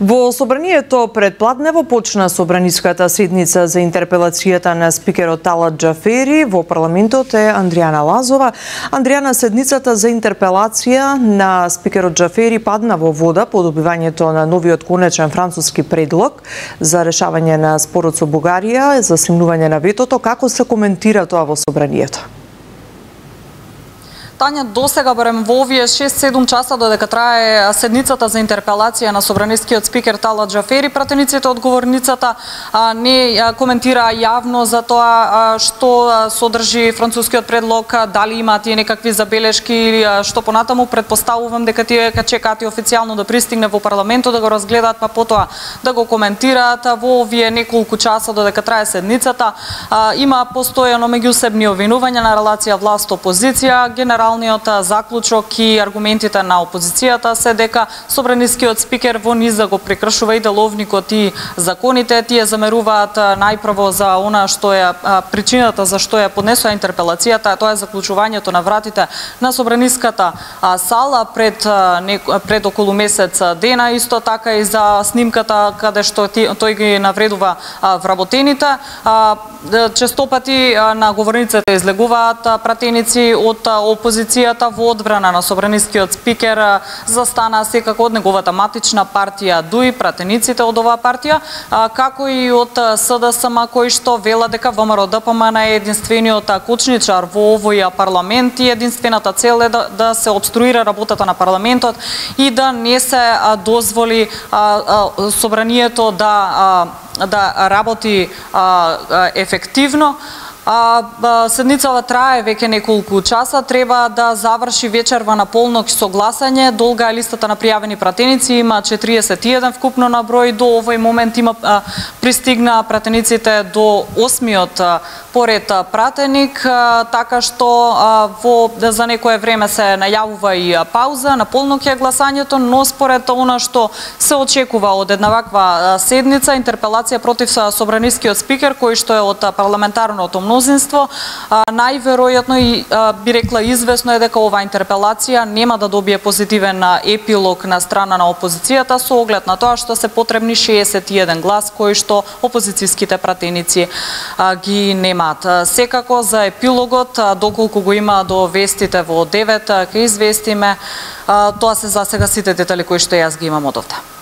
Во собранието пред Пладнево почна собраниската седница за интерпелацијата на спикерот Талат Џафери. Во парламентот е Андријана Лазова. Андријана, седницата за интерпелација на спикерот Џафери падна во вода по добивањето на новиот конечен француски предлог за решавање на спорот со Бугарија за снимнување на ветото. Како се коментира тоа во собранието? Тања, досега барем во овие 6-7 часа додека трае седницата за интерпелација на собранискиот спикер Талат Џафери, пратениците од говорницата не коментира јавно за тоа што содржи францускиот предлог, дали има тие некакви забелешки или што понатаму. Предпоставувам дека тие чекаат и официјално да пристигне во парламентот, да го разгледаат, па потоа да го коментираат. Во овие неколку часа додека трае седницата има постојано меѓусебни обвинувања на релација власт-опозиција. Генералниот заклучок и аргументите на опозицијата се дека собранискиот спикер во низ да го прекршува и деловникот и законите. Тие замеруваат најпрво за она што е причината за што ја поднесува интерпелацијата, тоа е заклучувањето на вратите на собраниската сала пред околу месец дена, исто така и за снимката каде што тој ги навредува вработените. Честопати на говорниците излегуваат пратеници од опозицијата во одбрана на собранискиот спикер. Застана секако од неговата матична партија ДУИ, пратениците од оваа партија, како и од СДСМ, кои што велат дека ВМРО-ДПМН е единствениот кочничар во овој парламент и единствената цел е да се обструира работата на парламентот и да не се дозволи собранието да работи ефективно. Седницава трае веќе неколку часа, треба да заврши вечерва на полнок со гласање. Долга е листата на пријавени пратеници, има 41 вкупно на број. До овој момент пристигна пратениците до 8-миот поред пратеник, така што за некое време се најавува и пауза, на полнок е гласањето, но според она што се очекува од една ваква седница, интерпелација против собранискиот спикер, кој што е од парламентарното мнозинство, најверојатно и би рекла извесно е дека оваа интерпелација нема да добие позитивен епилог на страна на опозицијата со оглед на тоа што се потребни 61 глас кои што опозицијските пратеници ги немаат. Секако за епилогот, доколку го има до вестите во 9, ќе известиме. Тоа се за сега сите детали кои што јас ги имам од овде.